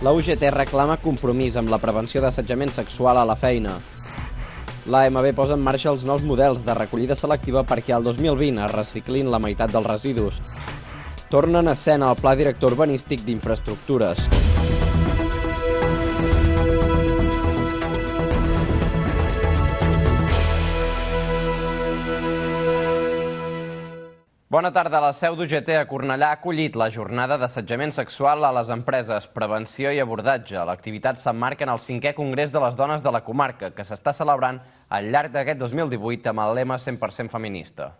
La UGT reclama compromís amb la prevenció d'assetjament sexual a la feina. L'AMB posa en marxa els nous models de recollida selectiva perquè al 2020 es reciclin la meitat dels residus. Torna en escena el Pla Director Urbanístic d'Infraestructures. Bona tarda. La seu d'UGT a Cornellà ha acollit la jornada d'assetjament sexual a les empreses, prevenció i abordatge. L'activitat s'emmarca en el 5è Congrés de les Dones de la Comarca, que s'està celebrant al llarg d'aquest 2018 amb el lema 100% feminista.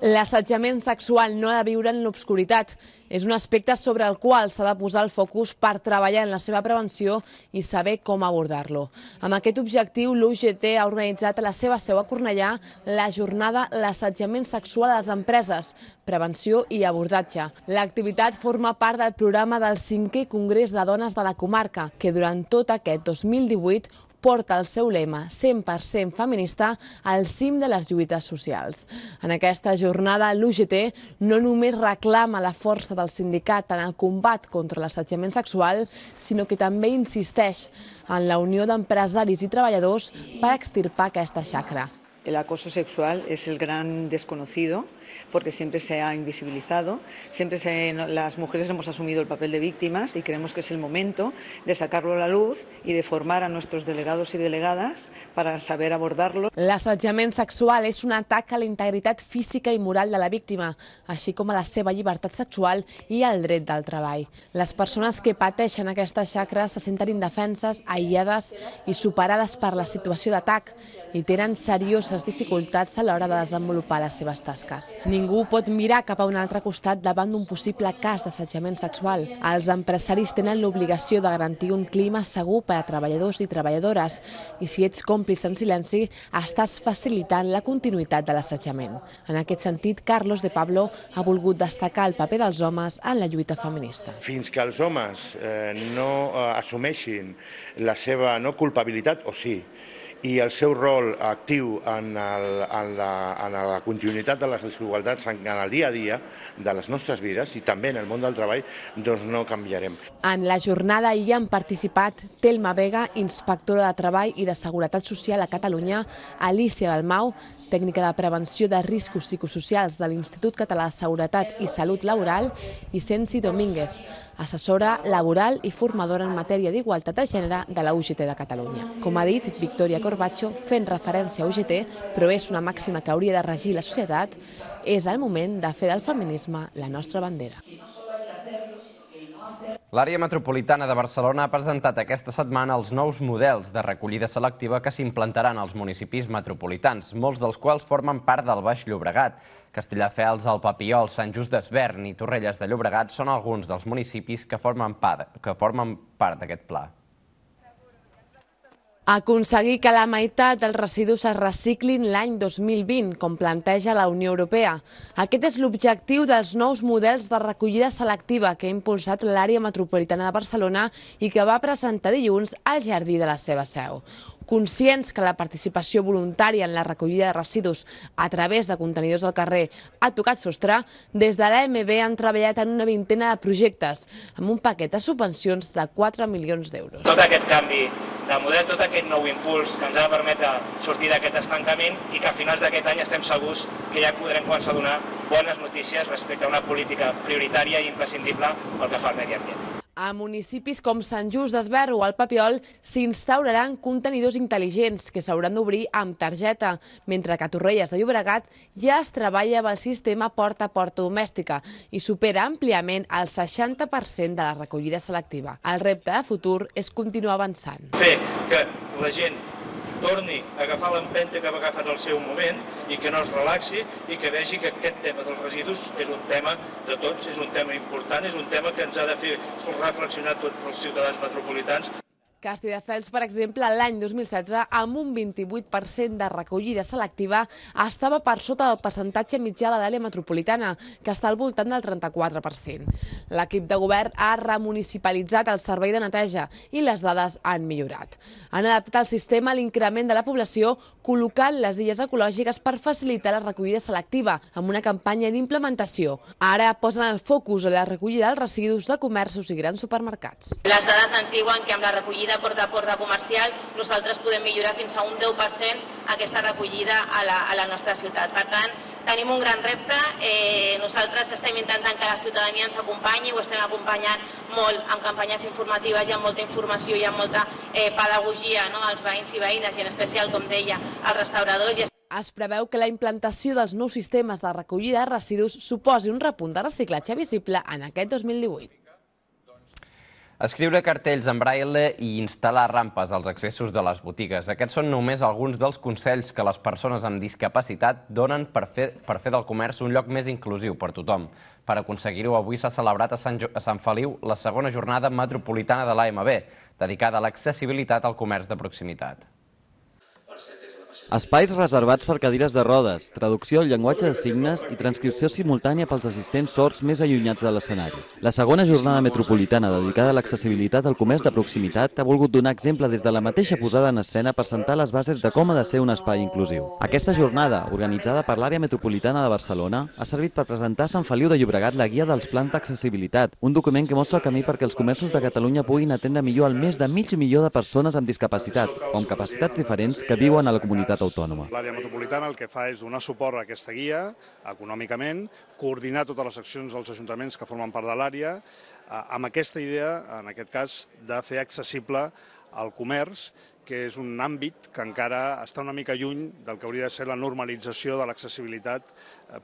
L'assetjament sexual no ha de viure en l'obscuritat. És un aspecte sobre el qual s'ha de posar el focus per treballar en la seva prevenció i saber com abordar-lo. Amb aquest objectiu, l'UGT ha organitzat a la seva seu a Cornellà la jornada L'assetjament sexual a les empreses, prevenció i abordatge. L'activitat forma part del programa del 5è Congrés de Dones de la Comarca, que durant tot aquest 2018 porta el seu lema 100% feminista al cim de les lluites socials. En aquesta jornada, l'UGT no només reclama la força del sindicat en el combat contra l'assetjament sexual, sinó que també insisteix en la unió d'empresaris i treballadors per extirpar aquesta xacra. El acoso sexual es el gran desconocido porque siempre se ha invisibilizado, las mujeres hemos asumido el papel de víctimas y creemos que es el momento de sacarlo a la luz y de formar a nuestros delegados y delegadas para saber abordarlo. L'assetjament sexual és un atac a la integritat física i moral de la víctima, així com a la seva llibertat sexual i al dret del treball. Les persones que pateixen aquesta xacra se senten indefenses, aïllades i superades per la situació d'atac i tenen serioses dificultats a l'hora de desenvolupar les seves tasques. Ningú pot mirar cap a un altre costat davant d'un possible cas d'assetjament sexual. Els empresaris tenen l'obligació de garantir un clima segur per a treballadors i treballadores i si ets còmplice en silenci, estàs facilitant la continuïtat de l'assetjament. En aquest sentit, Carlos de Pablo ha volgut destacar el paper dels homes en la lluita feminista. Fins que els homes no assumeixin la seva no culpabilitat, o sí, i el seu rol actiu en la continuïtat de les desigualtats en el dia a dia de les nostres vides i també en el món del treball, doncs no canviarem. En la jornada hi han participat Telma Vega, inspectora de Treball i de Seguretat Social a Catalunya, Alicia Dalmau, tècnica de prevenció de riscos psicosocials de l'Institut Català de Seguretat i Salut Laboral, i Sensi Domínguez, assessora laboral i formadora en matèria d'igualtat de gènere de la UGT de Catalunya. Com ha dit Victoria Corbacho, fent referència a UGT, però és una màxima que hauria de regir la societat, és el moment de fer del feminisme la nostra bandera. L'àrea metropolitana de Barcelona ha presentat aquesta setmana els nous models de recollida selectiva que s'implantaran als municipis metropolitans, molts dels quals formen part del Baix Llobregat. Castelldefels, el Papiol, Sant Just Desvern i Torrelles de Llobregat són alguns dels municipis que formen part d'aquest pla. Aconseguir que la meitat dels residus es reciclin l'any 2020, com planteja la Unió Europea. Aquest és l'objectiu dels nous models de recollida selectiva que ha impulsat l'àrea metropolitana de Barcelona i que va presentar dilluns al jardí de la seva seu. Conscients que la participació voluntària en la recollida de residus a través de contenidors al carrer ha tocat sostre, des de l'AMB han treballat en una vintena de projectes, amb un paquet de subvencions de 4 milions d'euros. Tot aquest canvi de model, tot aquest nou impuls que ens ha de permetre sortir d'aquest estancament i que a finals d'aquest any estem segurs que ja podrem començar a donar bones notícies respecte a una política prioritària i imprescindible pel que fa al medi ambient. A municipis com Sant Just Desvern o el Papiol s'instauraran contenidors intel·ligents que s'hauran d'obrir amb targeta, mentre que a Torrelles de Llobregat ja es treballa amb el sistema porta a porta domèstica i supera àmpliament el 60% de la recollida selectiva. El repte de futur és continuar avançant. Fer que la gent torni a agafar l'empenta que ha agafat al seu moment i que no es relaxi i que vegi que aquest tema dels residus és un tema de tots, és un tema important, és un tema que ens ha de fer reflexionar tots els ciutadans metropolitans. Castelldefels, per exemple, l'any 2016, amb un 28% de recollida selectiva, estava per sota del percentatge mitjà de l'àrea metropolitana, que està al voltant del 34%. L'equip de govern ha remunicipalitzat el servei de neteja i les dades han millorat. Han adaptat el sistema a l'increment de la població, col·locant les illes ecològiques per facilitar la recollida selectiva, amb una campanya d'implementació. Ara posen el focus a la recollida dels residus de comerços i grans supermercats. Les dades ens diuen que amb la recollida porta a porta comercial nosaltres podem millorar fins a un 10% aquesta recollida a la nostra ciutat. Per tant, tenim un gran repte. Nosaltres estem intentant que la ciutadania ens acompanyi, ho estem acompanyant molt amb campanyes informatives i amb molta informació i amb molta pedagogia als veïns i veïnes i en especial, com deia, als restauradors. Es preveu que la implantació dels nous sistemes de recollida de residus suposi un repunt de reciclatge visible en aquest 2018. Escriure cartells en braille i instal·lar rampes als accessos de les botigues. Aquests són només alguns dels consells que les persones amb discapacitat donen per fer del comerç un lloc més inclusiu per tothom. Per aconseguir-ho, avui s'ha celebrat a Sant Feliu la segona jornada metropolitana de l'AMB, dedicada a l'accessibilitat al comerç de proximitat. Espais reservats per cadires de rodes, traducció al llenguatge de signes i transcripció simultània pels assistents sords més allunyats de l'escenari. La segona jornada metropolitana dedicada a l'accessibilitat al comerç de proximitat ha volgut donar exemple des de la mateixa posada en escena per sentar les bases de com ha de ser un espai inclusiu. Aquesta jornada, organitzada per l'àrea metropolitana de Barcelona, ha servit per presentar a Sant Feliu de Llobregat la guia dels plans d'accessibilitat, un document que mostra el camí perquè els comerços de Catalunya puguin atendre millor al més de mig milió de persones amb discapacitat o amb capacitats diferents que viuen a la comunitat autònoma. L'àrea metropolitana el que fa és donar suport a aquesta guia econòmicament, coordinar totes les accions dels ajuntaments que formen part de l'àrea, amb aquesta idea, en aquest cas, de fer accessible el comerç, que és un àmbit que encara està una mica lluny del que hauria de ser la normalització de l'accessibilitat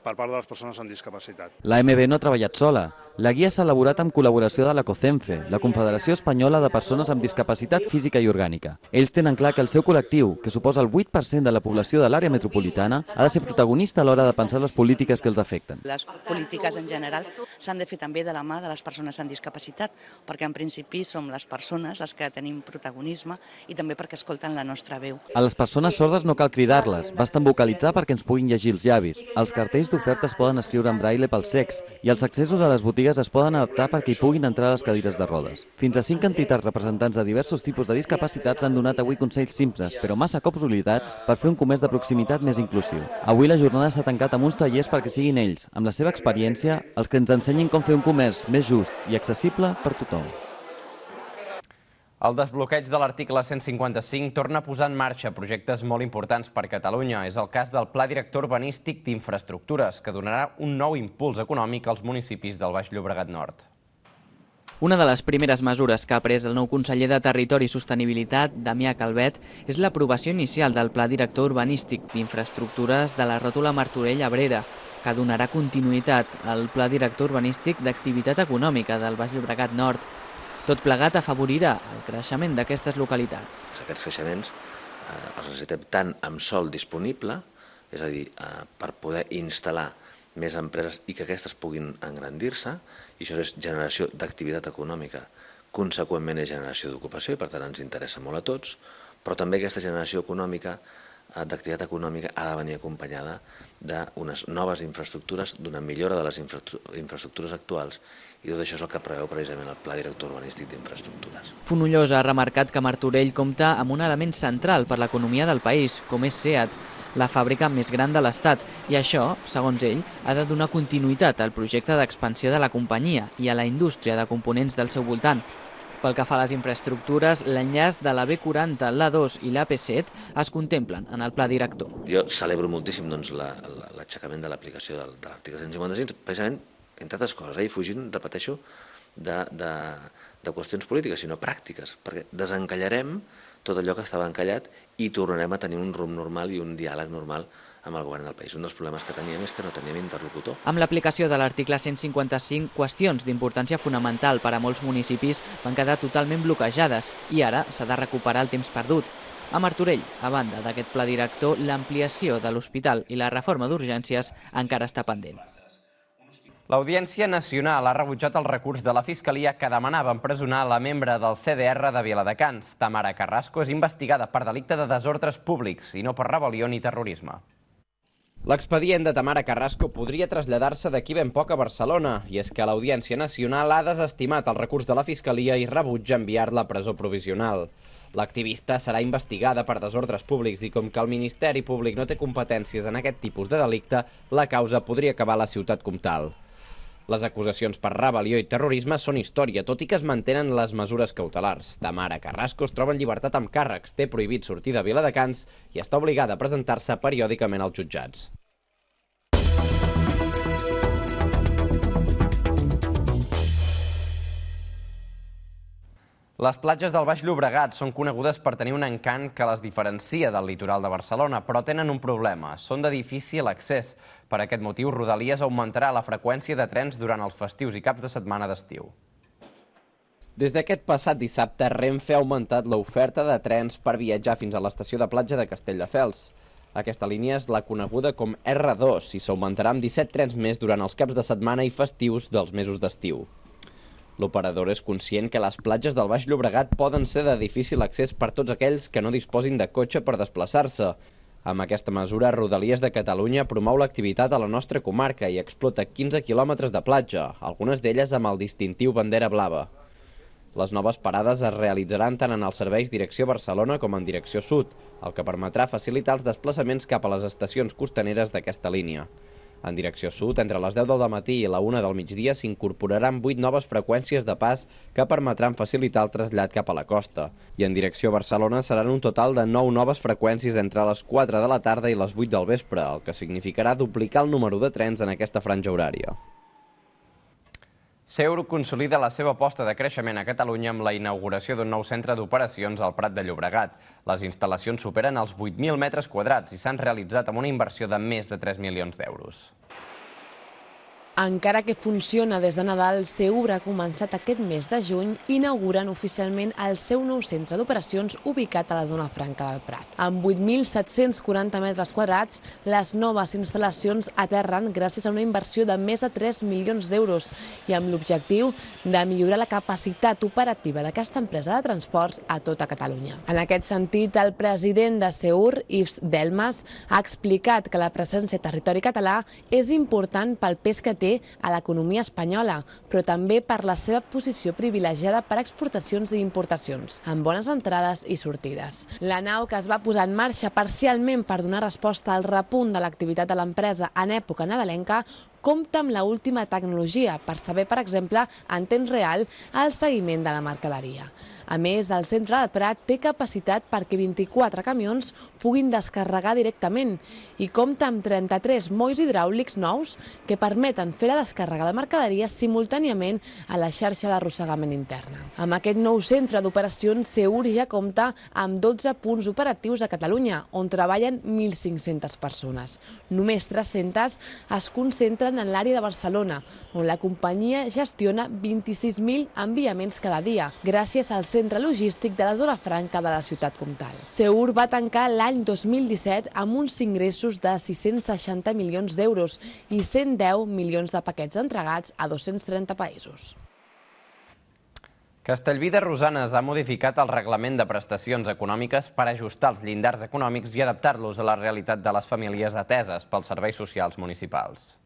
per part de les persones amb discapacitat. L'AMB no ha treballat sola. La guia s'ha elaborat amb col·laboració de la COCENFE, la Confederació Espanyola de Persones amb Discapacitat Física i Orgànica. Ells tenen clar que el seu col·lectiu, que suposa el 8% de la població de l'àrea metropolitana, ha de ser protagonista a l'hora de pensar les polítiques que els afecten. Les polítiques en general s'han de fer també de la mà de les persones amb discapacitat, perquè en principi som les persones les que tenim protagonisme i també perquè escolten la nostra veu. A les persones sordes no cal cridar-les, basten vocalitzar perquè ens puguin llegir els llavis. Els cartells d'oferta es poden escriure en braille pels cecs i els accessos a les botigues es poden adaptar perquè hi puguin entrar les cadires de rodes. Fins a 5 entitats representants de diversos tipus de discapacitats han donat avui consells simples, però massa cops oblidats, per fer un comerç de proximitat més inclusiu. Avui la jornada s'ha tancat amb uns tallers perquè siguin ells, amb la seva experiència, els que ens ensenyin com fer un comerç més just i accessible per tothom. El desbloqueig de l'article 155 torna a posar en marxa projectes molt importants per Catalunya. És el cas del Pla Director Urbanístic d'Infraestructures, que donarà un nou impuls econòmic als municipis del Baix Llobregat Nord. Una de les primeres mesures que ha pres el nou conseller de Territori i Sostenibilitat, Damià Calvet, és l'aprovació inicial del Pla Director Urbanístic d'Infraestructures de la ròtula Martorell-Abrera, que donarà continuïtat al Pla Director Urbanístic d'Activitat Econòmica del Baix Llobregat Nord. Tot plegat afavorirà el creixement d'aquestes localitats. Aquests creixements els necessitem tant amb sòl disponible, és a dir, per poder instal·lar més empreses i que aquestes puguin engrandir-se, i això és generació d'activitat econòmica, conseqüentment és generació d'ocupació i per tant ens interessa molt a tots, però també aquesta generació econòmica d'activitat econòmica ha de venir acompanyada d'unes noves infraestructures, d'una millora de les infraestructures actuals, i tot això és el que preveu precisament el Pla Director Urbanístic d'Infraestructures. Fonollosa ha remarcat que Martorell compta amb un element central per l'economia del país, com és SEAT, la fàbrica més gran de l'Estat, i això, segons ell, ha de donar continuïtat al projecte d'expansió de la companyia i a la indústria de components del seu voltant. Pel que fa a les infraestructures, l'enllaç de la B40, l'A2 i l'AP7 es contemplen en el pla director. Jo celebro moltíssim l'aixecament de l'aplicació de l'article 155, precisament, entre altres coses, i fugint, repeteixo, de qüestions polítiques, sinó pràctiques, perquè desencallarem tot allò que estava encallat i tornarem a tenir un rumb normal i un diàleg normal amb el govern del país. Un dels problemes que teníem és que no teníem interlocutor. Amb l'aplicació de l'article 155, qüestions d'importància fonamental per a molts municipis van quedar totalment bloquejades i ara s'ha de recuperar el temps perdut. A Martorell, a banda d'aquest pla director, l'ampliació de l'hospital i la reforma d'urgències encara està pendent. L'Audiència Nacional ha rebutjat el recurs de la Fiscalia que demanava empresonar la membre del CDR de Viladecans. Tamara Carrasco és investigada per delicte de desordres públics i no per rebel·lió ni terrorisme. L'expedient de Tamara Carrasco podria traslladar-se d'aquí ben poc a Barcelona, i és que l'Audiència Nacional ha desestimat el recurs de la Fiscalia i rebutja enviar-la a presó provisional. L'activista serà investigada per desordres públics i com que el Ministeri Públic no té competències en aquest tipus de delicte, la causa podria acabar a la ciutat comtal. Les acusacions per rebel·lió i terrorisme són història, tot i que es mantenen les mesures cautelars. Tamara Carrasco es troba en llibertat amb càrrecs, té prohibit sortir de Viladecans i està obligada a presentar-se periòdicament als jutjats. Les platges del Baix Llobregat són conegudes per tenir un encant que les diferencia del litoral de Barcelona, però tenen un problema. Són de difícil accés. Per aquest motiu, Rodalies augmentarà la freqüència de trens durant els festius i caps de setmana d'estiu. Des d'aquest passat dissabte, Renfe ha augmentat l'oferta de trens per viatjar fins a l'estació de platja de Castelldefels. Aquesta línia és la coneguda com R2 i s'augmentarà amb 17 trens més durant els caps de setmana i festius dels mesos d'estiu. L'operador és conscient que les platges del Baix Llobregat poden ser de difícil accés per tots aquells que no disposin de cotxe per desplaçar-se. Amb aquesta mesura, Rodalies de Catalunya promou l'activitat a la nostra comarca i explota 15 quilòmetres de platja, algunes d'elles amb el distintiu bandera blava. Les noves parades es realitzaran tant en els serveis direcció Barcelona com en direcció sud, el que permetrà facilitar els desplaçaments cap a les estacions costaneres d'aquesta línia. En direcció sud, entre les 10 del matí i la 1 del migdia s'incorporaran 8 noves freqüències de pas que permetran facilitar el trasllat cap a la costa. I en direcció Barcelona seran un total de 9 noves freqüències entre les 4 de la tarda i les 8 del vespre, el que significarà duplicar el número de trens en aquesta franja horària. Seur consolida la seva aposta de creixement a Catalunya amb la inauguració d'un nou centre d'operacions al Prat de Llobregat. Les instal·lacions superen els 8.000 metres quadrats i s'han realitzat amb una inversió de més de 3 milions d'euros. Encara que funciona des de Nadal, Seur ha començat aquest mes de juny inaugurant oficialment el seu nou centre d'operacions ubicat a la zona franca del Prat. Amb 8.740 metres quadrats, les noves instal·lacions aterren gràcies a una inversió de més de 3 milions d'euros i amb l'objectiu de millorar la capacitat operativa d'aquesta empresa de transports a tota Catalunya. En aquest sentit, el president de Seur, Yves Delmas, ha explicat que la presència a territori català és important pel pes que té a l'economia espanyola, però també per la seva posició privilegiada per exportacions i importacions, amb bones entrades i sortides. La nau, que es va posar en marxa parcialment per donar resposta al repunt de l'activitat de l'empresa en època nadalenca, compta amb l'última tecnologia per saber, per exemple, en temps real, el seguiment de la mercaderia. A més, el centre de Prat té capacitat perquè 24 camions puguin descarregar directament i compta amb 33 molls hidràulics nous que permeten fer la descàrrega de mercaderies simultàniament a la xarxa d'arrossegament interna. Amb aquest nou centre d'operacions, Seur ja compta amb 12 punts operatius a Catalunya, on treballen 1.500 persones. Només 300 es concentren en l'àrea de Barcelona, on la companyia gestiona 26.000 enviaments cada dia, gràcies al centre logístic de la zona franca de la ciutat comtal. Seur va tancar l'any 2017 amb uns ingressos de 660 milions d'euros i 110 milions de paquets entregats a 230 països. Castellví de Rosanes ha modificat el reglament de prestacions econòmiques per ajustar els llindars econòmics i adaptar-los a la realitat de les famílies ateses pels serveis socials municipals.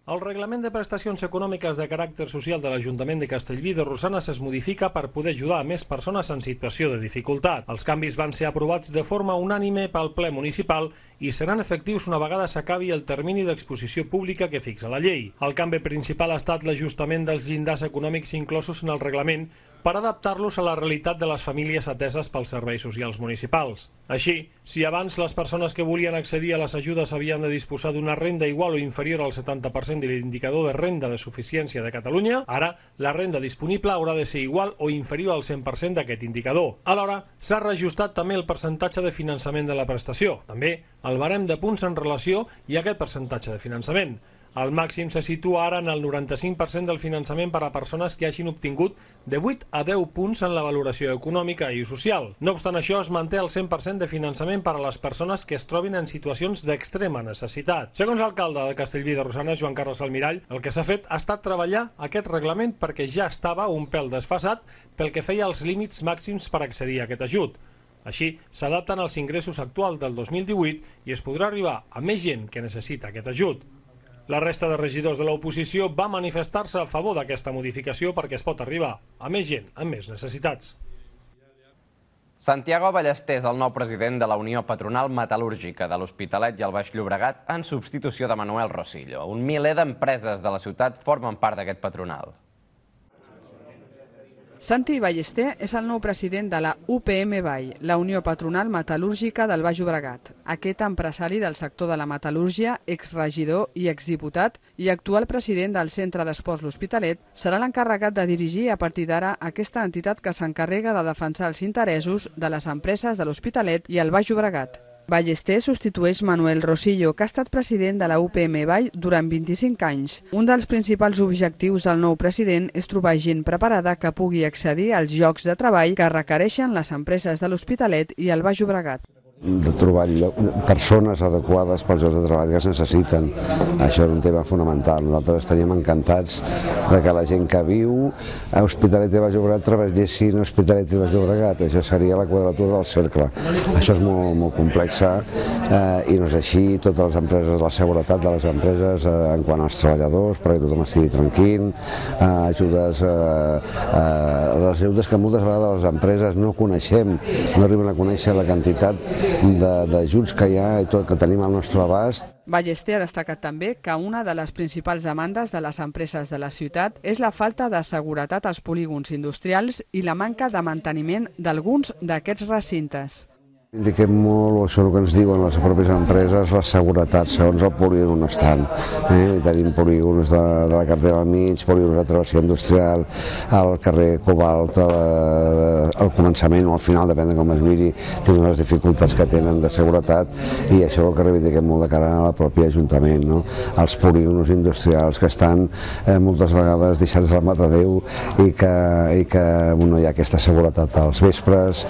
El reglament de prestacions econòmiques de caràcter social de l'Ajuntament de Castellví de Rosanes es modifica per poder ajudar a més persones en situació de dificultat. Els canvis van ser aprovats de forma unànime pel ple municipal i seran efectius una vegada s'acabi el termini d'exposició pública que fixa la llei. El canvi principal ha estat l'ajustament dels llindars econòmics inclosos en el reglament per adaptar-los a la realitat de les famílies ateses pels serveis socials municipals. Així, si abans les persones que volien accedir a les ajudes havien de disposar d'una renda igual o inferior al 70% de l'indicador de renda de suficiència de Catalunya, ara la renda disponible haurà de ser igual o inferior al 100% d'aquest indicador. Alhora, s'ha reajustat també el percentatge de finançament de la prestació, també el barem de punts en relació i aquest percentatge de finançament. El màxim se situa ara en el 95% del finançament per a persones que hagin obtingut de 8 a 10 punts en la valoració econòmica i social. No obstant això, es manté el 100% de finançament per a les persones que es trobin en situacions d'extrema necessitat. Segons l'alcalde de Castellví de Rosanes, Joan Carles Almirall, el que s'ha fet ha estat treballar aquest reglament perquè ja estava un pèl desfasat pel que feia als límits màxims per accedir a aquest ajut. Així, s'adapten als ingressos actuals del 2018 i es podrà arribar a més gent que necessita aquest ajut. La resta de regidors de l'oposició va manifestar-se a favor d'aquesta modificació perquè es pot arribar a més gent amb més necessitats. Santiago Ballester és el nou president de la Unió Patronal Metal·lúrgica de l'Hospitalet i el Baix Llobregat en substitució de Manuel Rosillo. Un miler d'empreses de la ciutat formen part d'aquest patronal. Santi Ballester és el nou president de la UPM Vall, la Unió Patronal Metal·lúrgica del Baix Llobregat. Aquest empresari del sector de la metal·lúrgia, exregidor i exdiputat i actual president del Centre d'Esports L'Hospitalet, serà l'encarregat de dirigir a partir d'ara aquesta entitat que s'encarrega de defensar els interessos de les empreses de l'Hospitalet i el Baix Llobregat. Ballester substitueix Manuel Rosillo, que ha estat president de la UPM Vall durant 25 anys. Un dels principals objectius del nou president és trobar gent preparada que pugui accedir als llocs de treball que requereixen les empreses de l'Hospitalet i el Baix Llobregat. De trobar persones adequades pels llocs de treball que es necessiten. Això és un tema fonamental. Nosaltres estaríem encantats de que la gent que viu a Hospitalet i Baix Llobregat treballessin a Hospitalet i Baix Llobregat. Això seria la quadratura del cercle. Això és molt complex i no és així. Totes les empreses, la seguretat de les empreses en quant als treballadors, perquè tothom estigui tranquil, ajudes que moltes vegades les empreses no coneixem, no arriben a conèixer la quantitat d'ajuts que hi ha i tot que tenim al nostre abast. Ballester ha destacat també que una de les principals demandes de les empreses de la ciutat és la falta de seguretat als polígons industrials i la manca de manteniment d'alguns d'aquests recintes. Indiquem molt, això és el que ens diuen les pròpies empreses, la seguretat, segons el polígon on estan. Tenim polígons de la carretera al mig, polígons de travessia industrial, al carrer Cobalt, al començament o al final, depèn de com es miri, tenen les dificultats que tenen de seguretat i això és el que reivindiquem molt de cara a la pròpia Ajuntament. Els polígons industrials que estan moltes vegades deixats al matadeu i que no hi ha aquesta seguretat als vespres,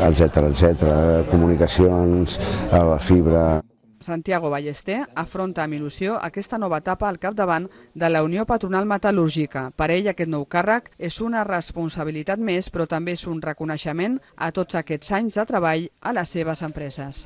etc. Comunicacions, a la fibra. Santiago Ballester afronta amb il·lusió aquesta nova etapa al capdavant de la Unió Patronal Metal·lúrgica. Per ell aquest nou càrrec és una responsabilitat més, però també és un reconeixement a tots aquests anys de treball a les seves empreses.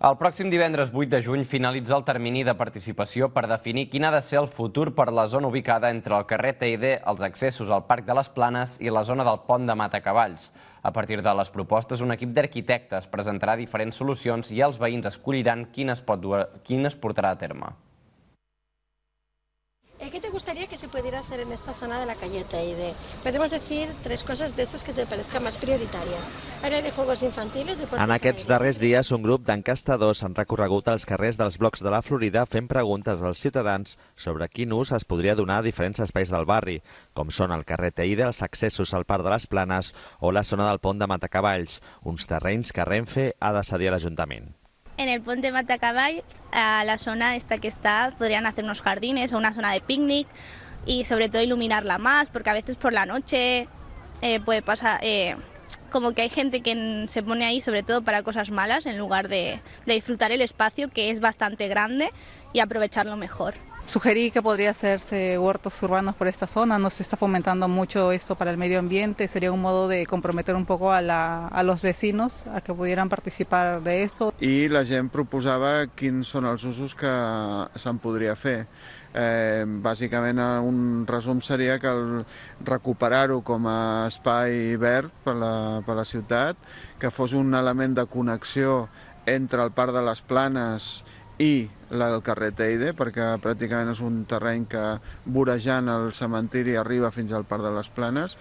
El pròxim divendres 8 de juny finalitza el termini de participació per definir quin ha de ser el futur per la zona ubicada entre el carrer Teide, els accessos al Parc de les Planes i la zona del Pont de Matacavalls. A partir de les propostes, un equip d'arquitectes presentarà diferents solucions i els veïns escolliran quin es portarà a terme. ¿Qué te gustaría que se pudiera hacer en esta zona de la calle Teide? Podemos decir tres cosas de estas que te parezcan más prioritàries. Área de juegos infantiles... En aquests darrers dies, un grup d'encastadors han recorregut els carrers dels blocs de la Florida fent preguntes als ciutadans sobre quin ús es podria donar a diferents espais del barri, com són el carrer Teide, els accessos al Parc de les Planes o la zona del Pont de Matacavalls, uns terrenys que Renfe ha de cedir a l'Ajuntament. En el Pont de Matacavalls, a la zona esta que está, podrían hacer unos jardines o una zona de picnic y sobre todo iluminarla más, porque a veces por la noche puede pasar, como que hay gente que se pone ahí sobre todo para cosas malas en lugar de disfrutar el espacio, que es bastante grande, y aprovecharlo mejor. Sugerí que podría hacerse huertos urbanos por esta zona, no se está fomentando mucho esto para el medio ambiente, sería un modo de comprometer un poco a los vecinos a que pudieran participar de esto. I la gent proposava quins són els usos que se'n podria fer. Bàsicament un resum seria que recuperar-ho com a espai verd per la ciutat, que fos un element de connexió entre el Parc de les Planes i el carrer Teide, perquè pràcticament és un terreny que vorejant el cementiri arriba fins al Parc de les Planes.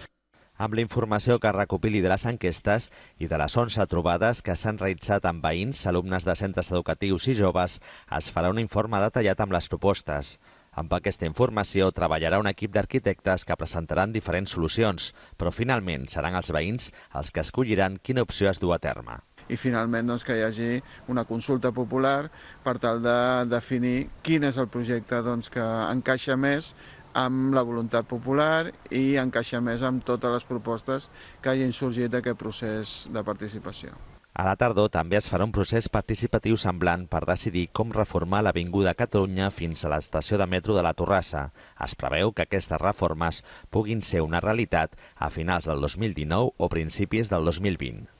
Amb la informació que recopili de les enquestes i de les 11 trobades que s'han realitzat amb veïns, alumnes de centres educatius i joves, es farà un informe detallat amb les propostes. Amb aquesta informació treballarà un equip d'arquitectes que presentaran diferents solucions, però finalment seran els veïns els que escolliran quina opció es du a terme. i finalment doncs, que hi hagi una consulta popular per tal de definir quin és el projecte doncs, que encaixa més amb la voluntat popular i encaixa més amb totes les propostes que hagin sorgit d'aquest procés de participació. A la tardor també es farà un procés participatiu semblant per decidir com reformar l'Avinguda Catalunya fins a l'estació de metro de la Torrassa. Es preveu que aquestes reformes puguin ser una realitat a finals del 2019 o principis del 2020.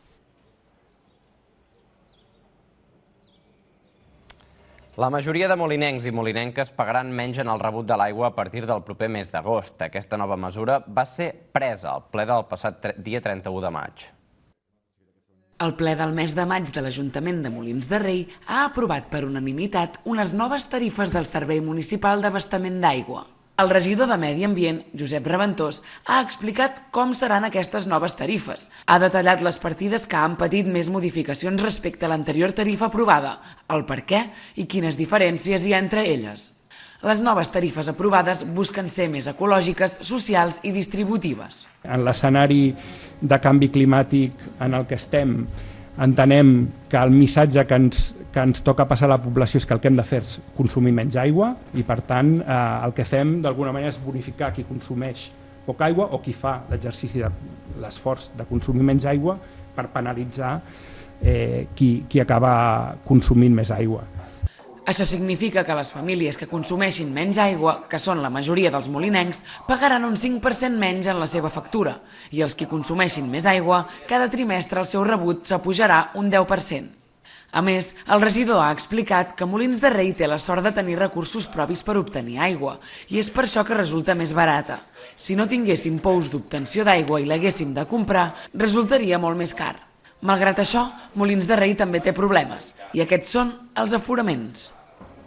La majoria de molinencs i molinenques pagaran menys en el rebut de l'aigua a partir del proper mes d'agost. Aquesta nova mesura va ser presa al ple del passat dia 31 de maig. El ple del mes de maig de l'Ajuntament de Molins de Rei ha aprovat per unanimitat unes noves tarifes del Servei Municipal d'Abastament d'Aigua. El regidor de Medi Ambient, Josep Reventós, ha explicat com seran aquestes noves tarifes. Ha detallat les partides que han patit més modificacions respecte a l'anterior tarifa aprovada, el per què i quines diferències hi ha entre elles. Les noves tarifes aprovades busquen ser més ecològiques, socials i distributives. En l'escenari de canvi climàtic en el que estem, entenem que el missatge que ens toca passar a la població és que el que hem de fer és consumir menys aigua i, per tant, el que fem d'alguna manera és bonificar qui consumeix poca aigua o qui fa l'exercici de l'esforç de consumir menys aigua per penalitzar qui acaba consumint més aigua. Això significa que les famílies que consumeixin menys aigua, que són la majoria dels molinencs, pagaran un 5% menys en la seva factura i els que consumeixin més aigua, cada trimestre el seu rebut s'apujarà un 10%. A més, el regidor ha explicat que Molins de Rei té la sort de tenir recursos propis per obtenir aigua i és per això que resulta més barata. Si no tinguéssim pous d'obtenció d'aigua i l'haguéssim de comprar, resultaria molt més car. Malgrat això, Molins de Rei també té problemes i aquests són els aforaments.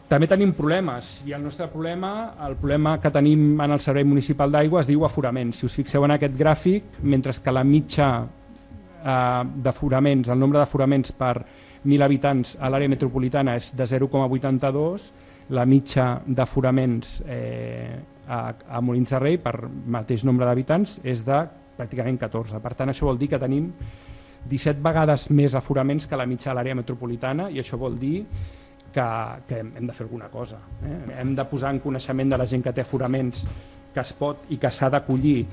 També tenim problemes i el nostre problema, el problema que tenim en el Servei Municipal d'Aigua es diu aforaments. Si us fixeu en aquest gràfic, mentre que la mitja d'aforaments, el nombre d'aforaments per 1.000 habitants a l'àrea metropolitana és de 0,82, la mitja d'aforaments a Molins de Rei per mateix nombre d'habitants és de pràcticament 14. Per tant, això vol dir que tenim 17 vegades més aforaments que la mitja de l'àrea metropolitana i això vol dir que hem de fer alguna cosa. Hem de posar en coneixement de la gent que té aforaments que es pot i que s'ha d'acollir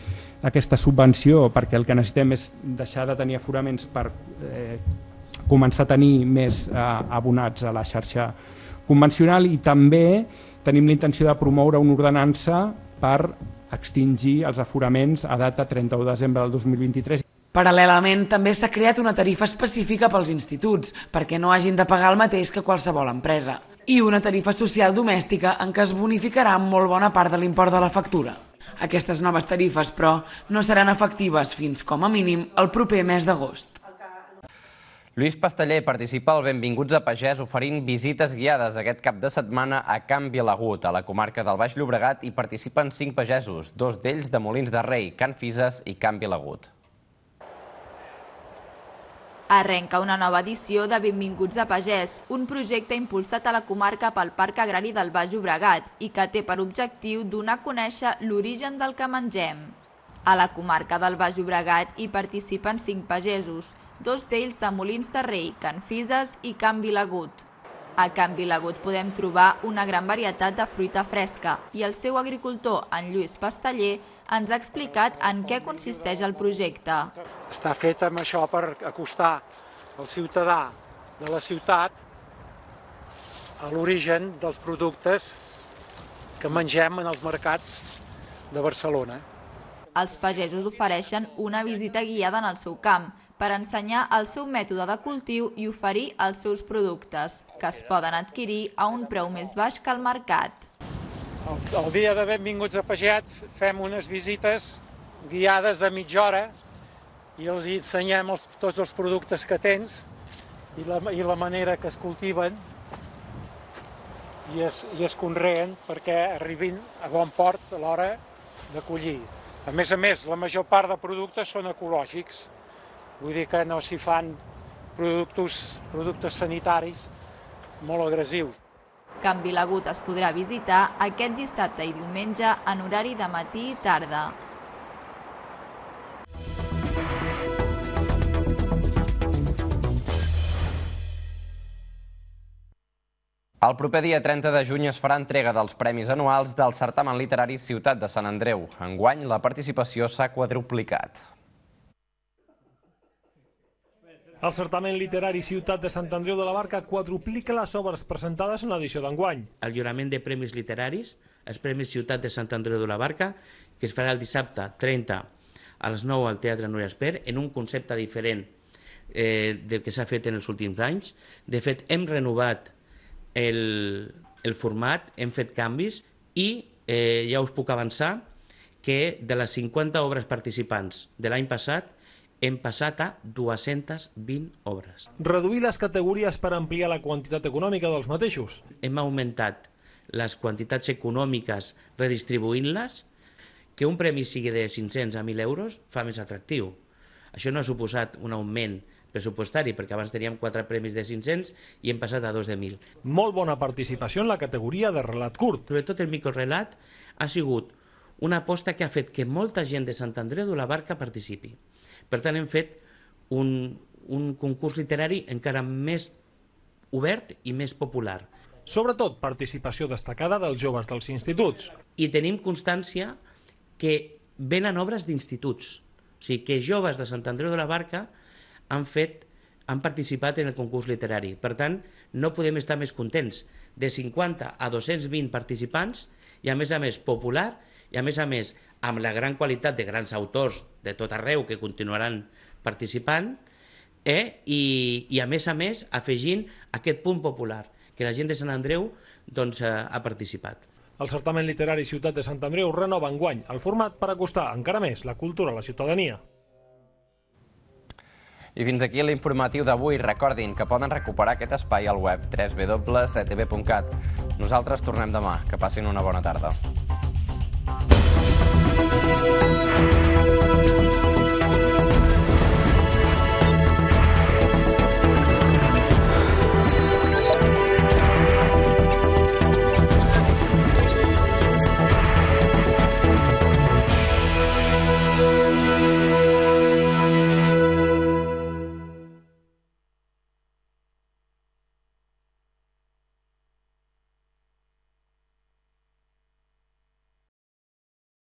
aquesta subvenció perquè el que necessitem és deixar de tenir aforaments per començar a tenir més abonats a la xarxa convencional i també tenim la intenció de promoure una ordenança per extingir els aforaments a data 31 de desembre del 2023. Paral·lelament, també s'ha creat una tarifa específica pels instituts, perquè no hagin de pagar el mateix que qualsevol empresa, i una tarifa social domèstica en què es bonificarà molt bona part de l'import de la factura. Aquestes noves tarifes, però, no seran efectives fins, com a mínim, el proper mes d'agost. Lluís Pasteller participa al Benvinguts a Pagès oferint visites guiades aquest cap de setmana a Can Vilagut, a la comarca del Baix Llobregat, i participen 5 pagesos, 2 d'ells de Molins de Rei, Can Fises i Can Vilagut. Arrenca una nova edició de Benvinguts a Pagès, un projecte impulsat a la comarca pel Parc Agrari del Baix Llobregat i que té per objectiu donar a conèixer l'origen del que mengem. A la comarca del Baix Llobregat hi participen 5 pagesos, 2 d'ells de Molins de Rei, Can Fises i Can Vilagut. A Can Vilagut podem trobar una gran varietat de fruita fresca i el seu agricultor, en Lluís Pasteller, ens ha explicat en què consisteix el projecte. Està fet amb això per acostar el ciutadà de la ciutat a l'origen dels productes que mengem en els mercats de Barcelona. Els pagesos ofereixen una visita guiada en el seu camp per ensenyar el seu mètode de cultiu i oferir els seus productes, que es poden adquirir a un preu més baix que al mercat. El dia de Benvinguts a Pagès fem unes visites guiades de mitja hora i els ensenyem tots els productes que tens i la manera que es cultiven i es conreen perquè arribin a bon port a l'hora de collir. A més, la major part de productes són ecològics, vull dir que no s'hi fan productes sanitaris molt agressius. Can Vilagut es podrà visitar aquest dissabte i diumenge en horari de matí i tarda. El proper dia 30 de juny es farà entrega dels premis anuals del certamen literari Ciutat de Sant Andreu. Enguany, la participació s'ha quadruplicat. El certamen literari Ciutat de Sant Andreu de la Barca quadruplica les obres presentades en l'edició d'enguany. El lliurament de premis literaris, els Premis Ciutat de Sant Andreu de la Barca, que es farà el dissabte 30 a les 9 al Teatre Núria Espert, en un concepte diferent del que s'ha fet en els últims anys. De fet, hem renovat el format, hem fet canvis i ja us puc avançar que de les 50 obres participants de l'any passat hem passat a 220 obres. Reduir les categories per ampliar la quantitat econòmica dels mateixos. Hem augmentat les quantitats econòmiques redistribuint-les, que un premi sigui de 500 a 1.000 euros fa més atractiu. Això no ha suposat un augment pressupostari, perquè abans teníem 4 premis de 500 i hem passat a 2 de 1.000. Molt bona participació en la categoria de relat curt. Sobretot el microrelat ha sigut una aposta que ha fet que molta gent de Sant Andreu de la Barca participi. Per tant, hem fet un concurs literari encara més obert i més popular. Sobretot participació destacada dels joves dels instituts. I tenim constància que venen obres d'instituts. O sigui, que joves de Sant Andreu de la Barca han participat en el concurs literari. Per tant, no podem estar més contents. De 50 a 220 participants i a més popular i a més amb la gran qualitat de grans autors de tot arreu que continuaran participant i a més afegint aquest punt popular, que la gent de Sant Andreu ha participat. El certamen literari Ciutat de Sant Andreu renova enguany el format per acostar encara més la cultura a la ciutadania. I fins aquí l'informatiu d'avui. Recordin que poden recuperar aquest espai al web www.etb.cat. Nosaltres tornem demà. Que passin una bona tarda.